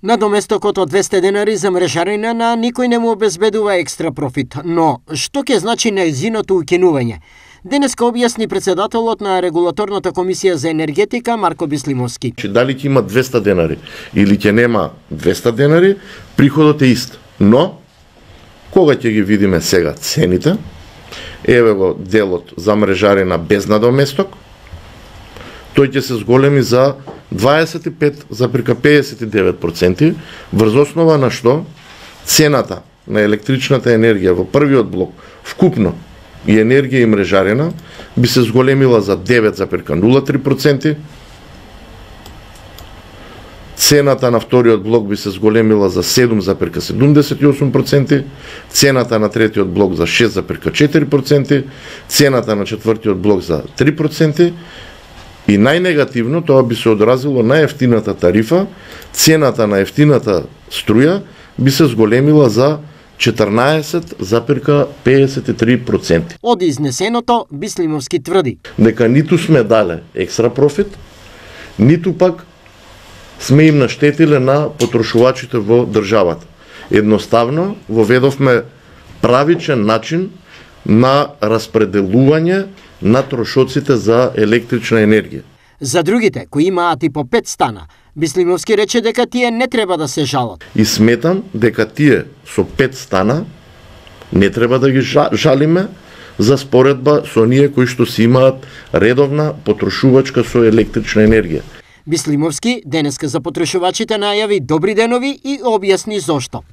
Надоместокот од 200 денари за мрежарина на никој не му обезбедува екстра профит, но што ќе значи нејзиното укинување? Денеска објасни председателот на Регулаторната комисија за енергетика Марко Бислимовски. Дали ќе има 200 денари или ќе нема 200 денари, приходот е ист. Но кога ќе ги видиме сега цените, еве го делот за мрежарина без надоместок, тој ќе се зголеми за 25,59%, врз основа на што цената на електричната енергија во првиот блок вкупно и енергија и мрежарина би се зголемила за 9,03%, цената на вториот блок би се зголемила за 7,78%, цената на третиот блок за 6,4%, цената на четвртиот блок за 3%, и најнегативно тоа би се одразило на ефтината тарифа, цената на ефтината струја би се зголемила за 14,53%. Од изнесеното, Бислимовски тврди дека ниту сме дале екстра профит, ниту пак сме им наштетиле на потрошувачите во државата. Едноставно воведовме правичен начин на распределување на трошоците за електрична енергија. За другите кои имаат и по 5 стана, Бислимовски рече дека тие не треба да се жалат. И сметам дека тие со 5 стана не треба да ги жалиме за споредба со оние кои што си имаат редовна потрошувачка со електрична енергија. Бислимовски денеска за потрошувачите најави добри денови и објасни зошто.